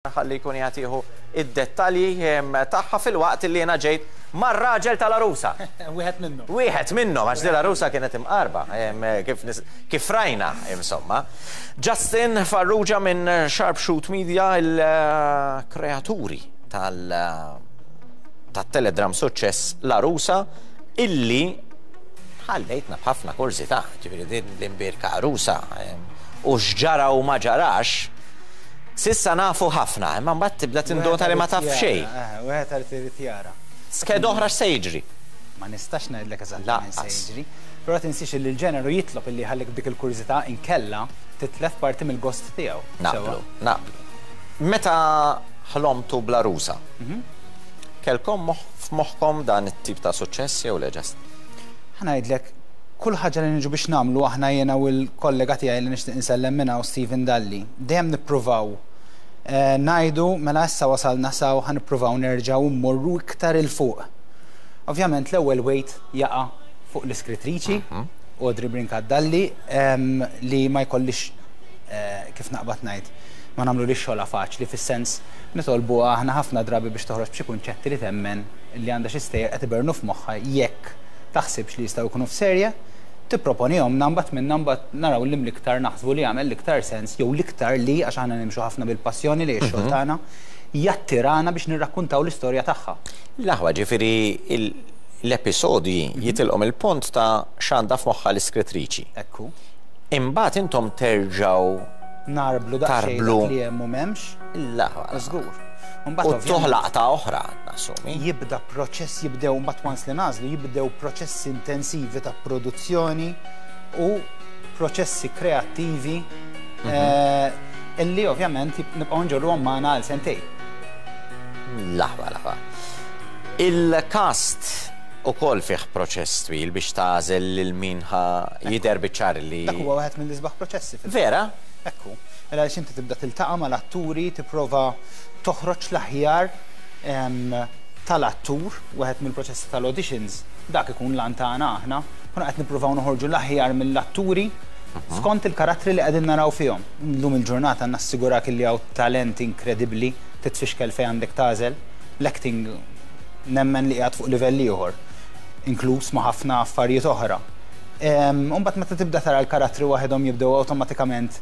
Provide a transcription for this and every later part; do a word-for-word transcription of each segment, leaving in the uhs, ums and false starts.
Ħalli jkun jagħtihu id-dettalji tagħha filwaqt li jiena ġejt mar-raġel tal-arusa. Wieħed minnhom. Wieħed minnhom, għax din l-arusa kienet imqarba, kif, kif rajna, insomma. Justin Farrugia minn Sharpshoot Media, il-kreaturi tal tat-teledramm suċċess L-Arusa, illi ħallejtna b'ħafna kurżità, ġifieri din l-imbierka arusa u x'ġara u ma ġarax. S'issa nafu ħafna, imma mbagħad tibda tindota li ma taf xejn. Wieħed għal irid jara. Skeda oħra x'se jiġri? Ma nistax ngħidlek eżattament se jiġri. Però tinsiex li l-ġeneru jitlob illi ħallik dik il-kurżità, inkella titlef parti mill-gost tiegħu. Naqblu, naqblu. Meta ħlomtu bl-Arusa, mhm. kelkom f'moħħkom dan it-tip ta' suċċess jew le, Just? Ħa ngħidlek, kull ħaġa li niġu biex nagħmlu aħna, jiena u l-kollega tiegħi li nixtieq insellem minna u Steven Dalli, dejjem nippruvaw eh, ngħidu mela issa wasalna s'hawn, ħa nippruvaw nerġgħu mmorru iktar 'il fuq. Ovvjament l-ewwel weight jaqa' fuq l-iskrittriċi, mhm. Audrey Brincat Dalli, li ma jkollix, eh, kif naqbad ngħid, ma nagħmlu li xogħla faċli, fis-sens nitolbu aħna ħafna drabi biex toħroġ b'xi kunċetti li temmen li għandha xi stejjer qed ibernu f'moħħha, jekk taħsibx li jistgħu jkunu f'serje, tipproponihom, mbagħad minna mbagħad naraw li l-iktar naħsbu li jagħmel l-iktar sens jew l-iktar li, għax aħna nimxu ħafna bil-passjoni li x-xogħol mhm. tagħna jattirana biex nirrakkuntaw l-istorja tagħha. L-aħwa, ġifieri l-episodji mhm. jitilqom il-punt ta' x'għandha f'moħħha l-iskrittriċi. Ekku. Imbagħad intom terġgħu narblu daqsxejn li hemm u m'hemmx. L-aħwa. Żgur. U toħlaq ta' oħra, nassumi. Jibda proċess, jibdew mbagħad once li nagħżlu, jibdew proċessi intensivi ta' produzzjoni u proċessi kreattivi mhm. eh, illi ovvjament nibqgħu nġorruhom magħna għal sentejn. L-aħwa, l-aħwa. Il-cast ukoll fih proċess twil biex tagħżel lil min ħa jidher biċ-ċar li. Dak huwa wieħed mill-isbaħ proċessi. Vera? Ekku. Mela għaliex inti tibda tiltaqa' mal-atturi, tipprova toħroġ l-aħjar tal-attur, wieħed mill-proċessi tal-auditions, dak ikun l tagħna aħna, kuna qed nippruvaw noħorġu l-aħjar mill-atturi skont il-karattri li qegħdin naraw fihom. Illum il-ġurnata nassigurak li hawn talent inkredibbli, titfixkel fejn għandek tagħżel. L-acting nemmen li qiegħed fuq livell ieħor, inkluż ma' ħafna affarijiet oħra. Imbagħad meta tibda tara l-karattri waħedhom jibdew awtomatikament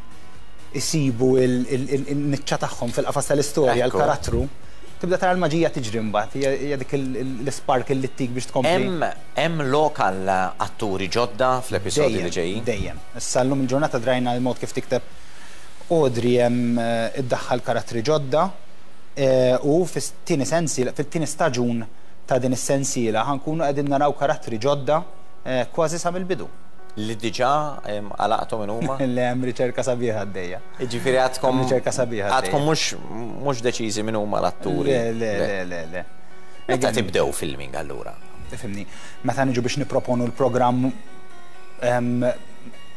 isibu il-niċċa tagħhom fil-qafas tal-istorja, l-karattru, tibda tara l-maġija tiġri mbagħad, hija dik l-spark li ttik biex tkompli. Hemm lokal atturi ġodda fl-episodji li ġejjin? Dejjem. Issa llum il-ġurnata drajna l-mod kif tikteb Audrey, hemm eh, iddaħħal karattri ġodda eh, u fit-tieni sensiela, fit-tieni staġun ta' din is-sensiela ħa nkunu qegħdin naraw karattri ġodda eh, kważi sa mill-bidu. Li diġà għalaqtu minn huma? Le, hemm riċerka sabiħa għaddejja. Ġifieri għadkom. Riċerka sabiħa. Għadkom mhux mhux deċiżi minn huma l-atturi. Le, le, le, le, le. Meta tibdew filming allura? Ifhimni, meta niġu biex niproponu l-programm,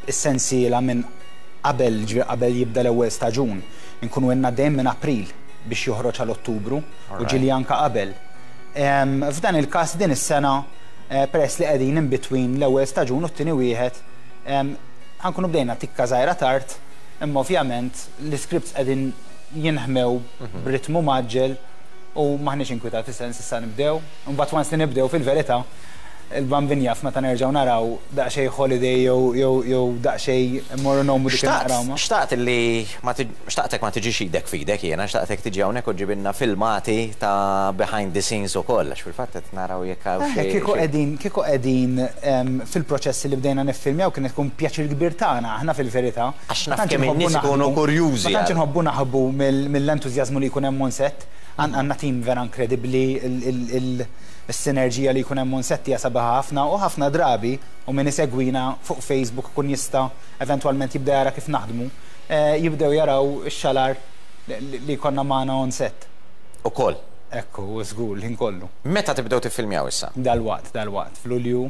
is-sensiela minn qabel, ġifieri qabel jibda l-ewwel staġun, nkunu għandna dejjem minn April biex joħroġ għal Ottubru u ġieli anka qabel. F'dan il-każ din is-sena, eh, peress li qegħdin in between l-ewwel staġun u t-tieni wieħed, ħa nkunu bdejna tikka żgħira tard, imma ovvjament l-scripts qegħdin jinħmew mhm. b'ritmu mgħaġġel u maħniex inkwitati, sens issa nibdew. Mbagħad once li nibdew, fil-verità il-Bambin jaf meta nerġgħu naraw daqsxejn holiday jew jew jew daqsxejn immorru nomu dik naqrawma. Xtaqt li ma xtaqtek ma tiġix idek f'idek jiena, xtaqtek tiġi hawnhekk u ġibilna filmati ta' behind the scenes ukoll, għax fil-fatt qed naraw jekk hawn eh, xi. Kieku qegħdin kieku qegħdin fil-proċessi li bdejna niffilmjaw, kien tkun pjaċir kbir tagħna aħna fil-verità. Għax naf kemm in-nies ikunu kurjużi. Ma tantx inħobbu naħbu mill-entużjażmu li jkun hemm on set. Għandna tim vera inkredibbli, il-sinerġija li jkun hemm on set hija sabiħa ħafna u ħafna drabi, u min isegwina fuq Facebook kun jista' eventwalment jibda jara kif naħdmu, eh, jibdew jaraw ix-xalar li konna magħna on set. Ukoll. Ekku, żgur, l-ħin kollu. Meta tibdew tiffilmjaw issa? Dalwaqt, dalwaqt, f'Lulju,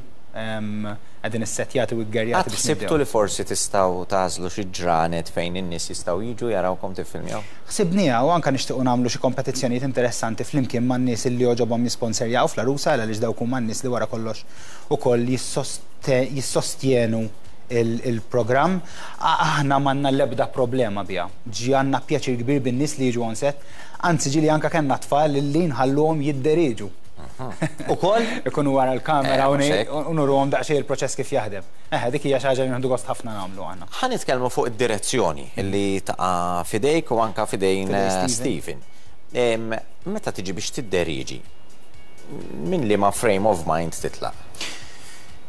qegħdin issettjati u ggerjati biex Ħsibtu li forsi tistgħu tagħżlu xi ġranet fejn in-nies jistgħu jiġu jarawkom tiffilmjaw? Ħsibniha u anka nixtiequ nagħmlu xi kompetizzjonijiet interessanti flimkien man-nies li jogħġobhom jisponserjaw fl-Arusa, għaliex dawk huma n-nies li wara kollox ukoll jissostjenu il-programm. Aħna m'għandna l-ebda problema biha. Ġi għandna pjaċir kbir bin-nies li jiġu on set, anzi ġieli anka kellna tfal li nħalluhom jidderiġu. Ukoll? Ikunu wara l-kamera u nuruhom daqsxejn il-proċess kif jaħdem. Eh, dik hija xi ħaġa li nieħdu gost ħafna nagħmlu aħna. Ħa nitkellmu fuq id-direzzjoni li taqa' fidejk u anka fidejn Steven. Meta tiġi biex tidderiġi, minn liema frame of mind titlaq?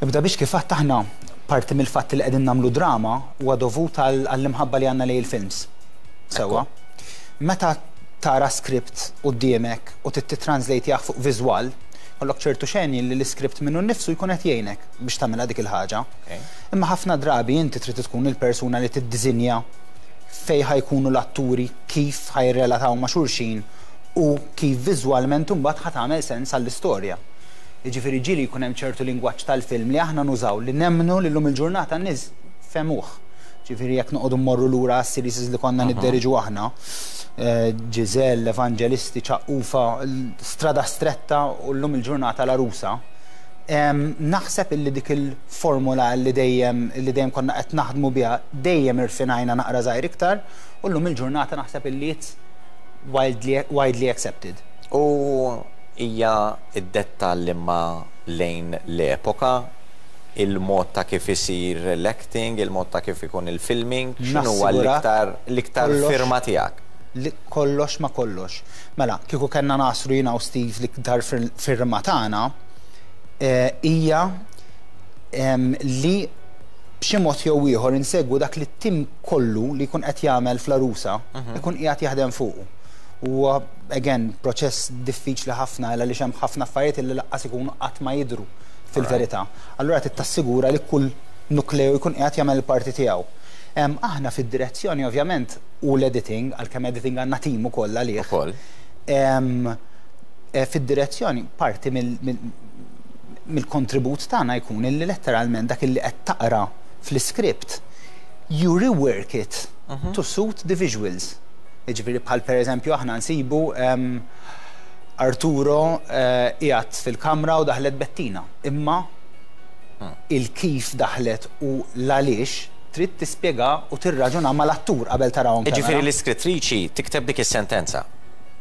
Ibda biex kif aħna parti mill-fatt li qegħdin nagħmlu drama huwa dovut għall-imħabba li għandna lejn il-films. Sewwa. Meta tara script quddiemek u titranslate fuq viżwal, kollok ċertu xeni li l-iskript minnu nnifsu jkun qed jgħinek biex tagħmilha dik il-ħaġa. Imma ħafna drabi inti trid tkun il-persuna li tiddiżinja fej ħa jkunu l-atturi, kif ħa jirrelataw ma' xulxin u kif viżwalment imbagħad ħa tagħmel sens għall-istorja. Jiġifieri ġieli jkun hemm ċertu lingwaġġ tal-film li aħna nużaw li nemmnu li llum il-ġurnata n-nies fehmuh. Ġifieri jekk noqogħdu mmorru lura għas-series li konna nidderiġu aħna, Giselle, Evangelisti, Ċaqqufa, Strada Stretta u llum il-ġurnata L-Għarusa. Naħseb illi dik il-formula li dejjem li dejjem konna qed naħdmu biha dejjem irfinajna naqra żgħir iktar u llum il-ġurnata naħseb illi it's widely, widely accepted. U hija id-dettall imma lejn l-epoka, il-mod ta' kif isir l-acting, il-mod ta' kif ikun il-filming, x'inhu huwa l-iktar l-iktar firma tiegħek? Kollox ma kollox. Mela, kieku kellna nasru jiena u Steve l-iktar firma tagħna hija li b'xi mod jew ieħor insegwu dak li t-tim kollu li jkun qed jagħmel fl-Għarusa ikun qiegħed jaħdem fuqu. U again, proċess diffiċli ħafna għaliex hemm ħafna affarijiet li lanqas ikunu qatt ma jidru fil-verità. Allura trid tassigura li kull nukleu jkun qiegħed jagħmel il-parti tiegħu. Aħna fid-direzzjoni ovvjament u l-editing, għalkemm editing għandna tim ukoll għalih. Ukoll. Eh, fid-direzzjoni parti mill-kontribut tagħna jkun illi letteralment dak illi qed taqra fl-iskript you rework it mhm. to suit the visuals. Jiġifieri bħal per eżempju aħna nsibu Arturo eh, qiegħed fil-kamra u daħlet Bettina. Imma hmm. il-kif daħlet u l-għaliex trid tispjega u tirraġuna mal-attur qabel tarawhom. Ġifieri l-iskrittriċi tikteb dik is-sentenza.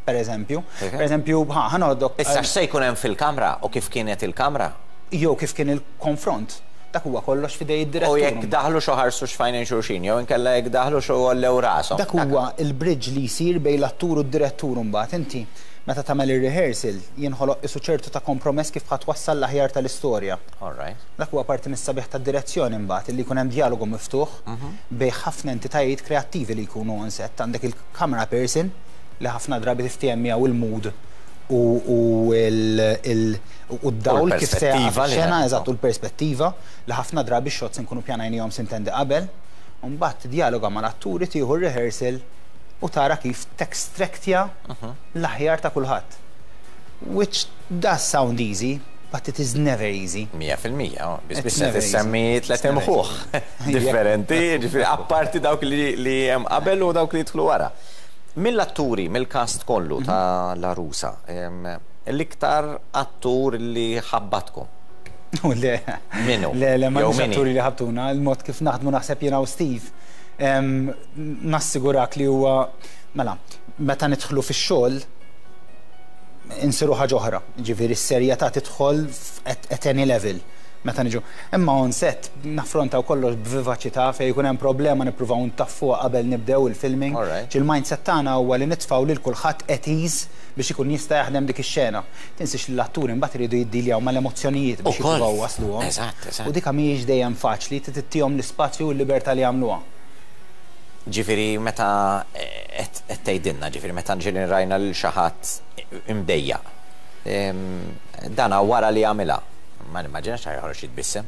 Per eżempju. Per eżempju, ħa noħdok. Issa x'se jkun hemm fil-kamra u kif kienet il-kamra? Jew kif kien il-konfront. Dak huwa kollox fidej id-direttur. U jekk daħlu xo ħarsu x'fajn xulxin, jew inkella jekk daħlu xo għollew rashom. Dak huwa il-bridge li jsir bejn l-attur u d-direttur. Mbagħad inti meta tagħmel ir-rehearsal jinħoloq isu ċertu ta' kompromess kif ħa twassal l-aħjar tal-istorja. All right. Dak huwa parti mis-sabiħ tad-direzzjoni mbagħad illi jkun hemm dialogu miftuħ mhm. bejn ħafna entitajiet kreattivi li jkunu on set. Għandek il-camera person li ħafna drabi tiftiehem miegħu il-mood u d-dawl kif se xena, eżatt, u l-perspettiva li ħafna drabi shots nkunu pjanajnihom sintendi qabel. Mbagħad dialoga mal-atturi, tieħu rehearsal u tara kif textractja mhm. l-aħjar ta' kulħadd. Which does sound easy, but it is never easy. Mija fil-mija, bis bis tissemmi tlet imħuħ differenti, ġifieri apparti dawk li hemm qabel u dawk li jidħlu wara. Mill-atturi, mill-cast kollu mhm. ta' L-Għarusa, l-iktar attur li ħabbatkom? Le. Minnu? Le, le, ma atturi li ħabtuna, il-mod kif naħdmu naħseb jiena u Steve. Nassigurak li huwa, mela, meta nidħlu fix-xogħol, insiru ħaġa oħra. Ġifieri s-serjetà tidħol at any level meta niġu. Imma on set naffrontaw kollox b'vivaċità, fejn jkun hemm problema nippruvaw ntaffuha qabel nibdew il-filming. Il-mindset tagħna huwa li nitfgħu lil kulħadd at ease biex ikun jista' jaħdem dik ix-xena. Tinsiex li l-atturi mbagħad iridu jiddiljaw mal-emozzjonijiet biex jippruvaw wasluhom. Eżatt, eżatt. U dik mhijiex dejjem faċli, tittihom l-ispazju u l-libertà li jagħmluha. Ġifieri meta qed tgħidilna, ġifieri meta ġieli rajna lil xi ħadd imdejjaq. Dana wara li għamilha. Ma nimmaġinax ħa joħroġ jitbissem.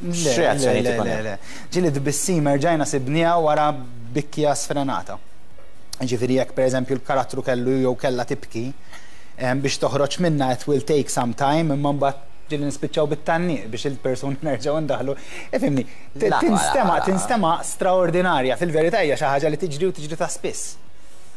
Le, le, le, le. Ġieli tbissima rġajna sibnieha wara bikja sfrenata. Ġifieri jekk per eżempju l-karattru kellu jew kella tibki, biex toħroġ minna it will take some time, imma mbagħad ġieli nispiċċaw bit-tgħanniq biex il-persuna nerġgħu ndaħlu. Ifhimni, tinstema, tinstema straordinarja, fil-verità hija xi ħaġa li tiġri u tiġri ta' spiss.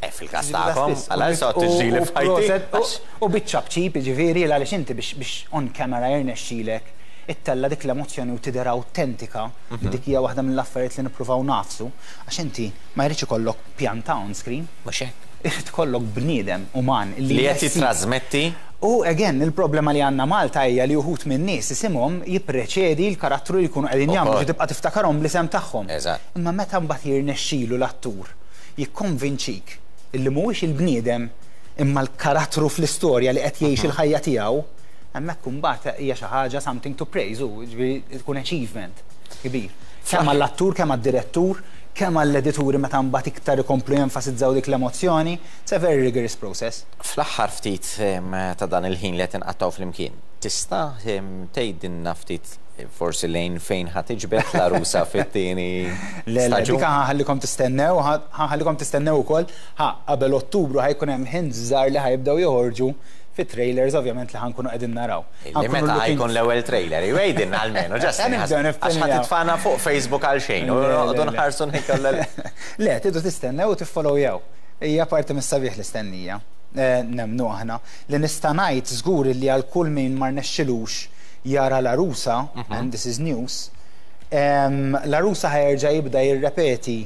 Eh, fil-kas tagħkom, għala so tiġri li fajti. U biċċa bċip, ġifieri, għaliex inti biex on camera jirnexxilek Ittella dik l-emozzjoni u tidher autentika, li dik hija waħda mill-affarijiet li nippruvaw nagħfsu, għax inti ma jridx ikollok pjanta on screen, Mhux hekk. irid ikollok bniedem uman li qed jitrasmetti. U again, il-problema li għandna Malta hija li uħud minn nies isimhom jippreċedi l-karattru li jkunu qegħdin jagħmlu Ukoll. ġi tibqa' tiftakarhom bl-isem tagħhom. Eżatt. Imma meta mbagħad jirnexxilu l-attur jikkonvinċik illi mhuwiex il-bniedem imma l-karattru fl-istorja li qed jgħix il-ħajja tiegħu, hemmhekk imbagħad hija xi ħaġa something to praise u ġifieri tkun achievement kbir. Kemm għall-attur, kemm għad-direttur, kemm għall-edituri meta mbagħad iktar ikomplu jenfasizzaw dik l-emozzjoni, it's a very rigorous process. Fl-aħħar ftit em, ta' dan il-ħin li qed inqattgħu flimkien, tista' em, tgħidilna ftit eh, forsi lejn fejn ħa tiġbed l-Għarusa fit-tieni Le, le, staġun? dik ħa nħallikom tistennew, ħa nħallikom tistennew ukoll, ħa qabel Ottubru ħa jkun hemm hints żgħar li ħa jibdew joħorġu fit-trailers ovvjament li ħa nkunu qegħdin naraw. Li Ħa nkunu meta looking- ħa jkun l-ewwel trailer, jgħidilna almenu, Justin, Ħa nibdew għax ħa niffilmjaw. titfana fuq Facebook għal xejn, u Le, le, noqogħdu le. nħarsu nkolla. Le, tridu tistennew u tiffollowjaw. Hija parti mis-sabiħ l-istennija. Eh, Nemmnu aħna. Li nista' ngħid żgur li għal kull min ma rnexxilux jara l-Għarusa, and this is news, em, l-Għarusa ħa jerġa' jibda jirrepeti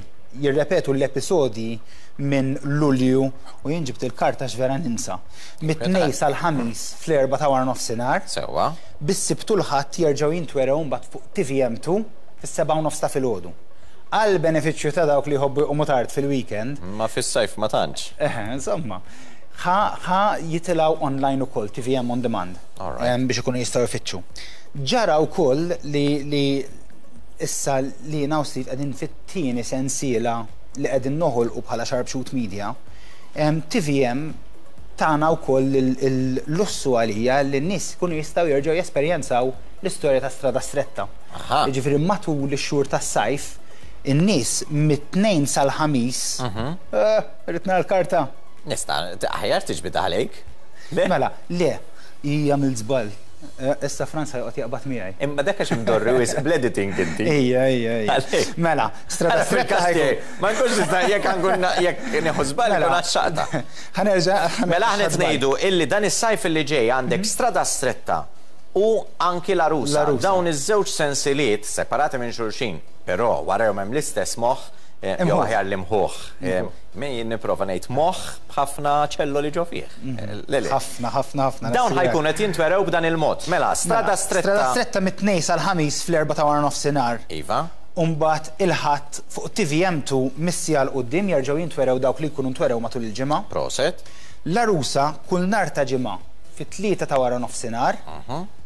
jirrepetu l-episodji minn Lulju u jien ġibt il-karta x'vera ninsa. Mit-Tnejn sal-Ħamis fl-erba' ta' wara nofsinhar, Sewwa. bis-Sibt u l-Ħadd jerġgħu jintwerew mbagħad fuq T V M two fis-sebgħa u nofs ta' filgħodu. Għal benefiċċju ta' dawk li jħobbu jqumu tard fil-weekend, Ma fis-sajf ma tantx. eħe, insomma, ħa ħa jitilgħu online ukoll, T V M on demand, Alright. em, biex ikunu jistgħu jfittxu. Ġara wkoll li li issa li jiena u Steve qegħdin fit-tieni sensiela li qegħdin noħolqu bħala Sharpshoot Media, em, T V M tana wkoll il-lussu għalija li n-nies kunu jistgħu jerġgħu jesperjenzaw l-istorja ta' Strada Stretta. Aha. Jiġifieri matul ix-xhur tas-sajf, in-nies mit-Tnejn sal-Ħamis, eh, irrid nara l-karta. Nista' aħjar tiġbid għalejk. Le? Mela, le, hija mill-żball. Eh, Issa Franza joqgħod jaqbad miegħi. Imma dak għax imdorri wisq bl-editing inti. Ejja, ejja, ejja. Għalhekk. Mela, Strada Għala Stretta fil-każ ħa jkun. tiegħi, ma nkunx nista' jekk nkun jekk nieħu żball Mela. nkun għaxxaqta. Ħa nerġa'. Mela aħna qed ngħidu illi dan is-sajf illi ġej għandek Strada Stretta u anki l-Għarusa. L-Għarusa. Dawn iż-żewġ sensiliet separati minn xulxin, però warahom hemm l-istess moħħ, eh, jew Imħuħ. aħjar l-imħuħ. Eh, Min jien nipprova ngħid moħħ b'ħafna ċelloli ġo fih. Eh, Le, le. Ħafna, ħafna, ħafna. Dawn ħa jkun qed jintwerew b'dan il-mod. Mela, Strada Mela, Stretta. Strada Stretta mit-Tnejn sal-Ħamis fl-erba' ta' wara nofsinhar. Iva. Umbagħad il-Ħadd fuq T V M two mis-siegħa 'l quddiem jerġgħu jintwerew dawk li jkunu ntwerew matul il-ġimgħa. Prosit. L-Għarusa kull nhar ta' Ġimgħa fit-tlieta ta' wara nofsinhar,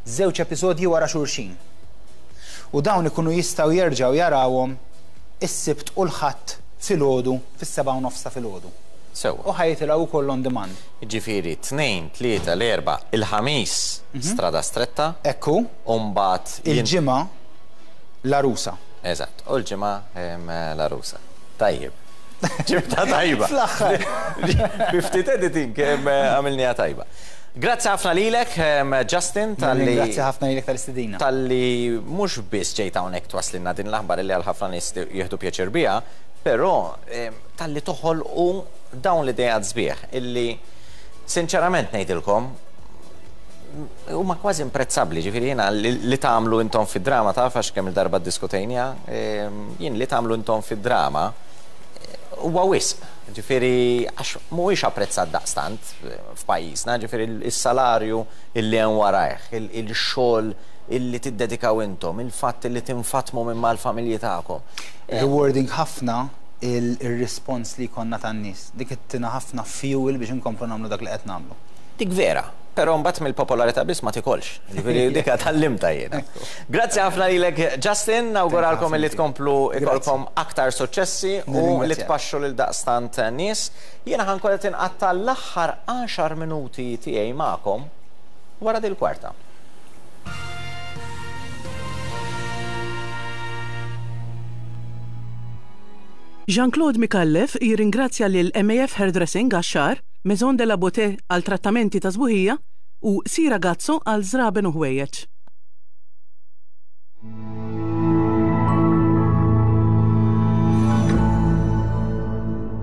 żewġ episodji wara xulxin. U dawn ikunu jistgħu jerġgħu jarawhom is-Sibt u l-Ħadd filgħodu fis-sebgħa u nofs ta' filgħodu. Sewwa. U ħa jitilgħu wkoll on demand. Ġifieri, tnejn, tlieta, l-Erbgħa, il-Ħamis, Strada Stretta, Ekku, u mbagħad jien- il-Ġimgħa l-Għarusa. Eżatt, u l-Ġimgħa em, l-Għarusa. Tajjeb. Ġibta tajba. Fl-aħħar. Bi ftit editing em, għamilniha tajba. Grazzi ħafna lilek, em, Justin, talli Grazzi ħafna lilek tal-istedina. talli mhux biss ġejt hawnhekk twasslilna din l-aħbar li għal ħafna nies jieħdu pjaċir biha, però em, talli toħolqu dawn l-idejat sbieħ illi sinċerament ngħidilkom huma kważi imprezzabbli, ġifieri jiena li, li tagħmlu intom fid-drama, taf għax kemm il-darba ddiskutejniha, em, jien li tagħmlu intom fid-drama eh, huwa wisq. Ġifieri għax mhuwiex apprezzat daqstant eh, f'pajjiżna, ġifieri il-salarju illi hemm warajh, il- il-xogħol illi tiddedikaw intom, il-fatt illi tinfatmu minn mal-familji tagħkom. Rewarding ħafna il-respons li konna tan-nies. Dik ittina ħafna fuel biex inkomplu nagħmlu dak li qed nagħmlu. Dik vera, però mbagħad mill-popolarità biss ma tikolx. Ġifieri dik tgħallimtha jiena. Grazzi ħafna lilek Justin, nawguralkom illi tkomplu ikolkom aktar suċċessi u li Nirringrazzjak. tpaxxu lil daqstant nies. Jiena ħa nkun qed inqatta' l-aħħar għaxar minuti tiegħi magħkom wara dil-kwarta. Jean-Claude Micallef jirringrazzja lil M A F Hairdressing għax-xagħar, Maison de la Beauté għal trattamenti ta' sbuħija u Sira Gazzo għal żraben u ħwejjeġ.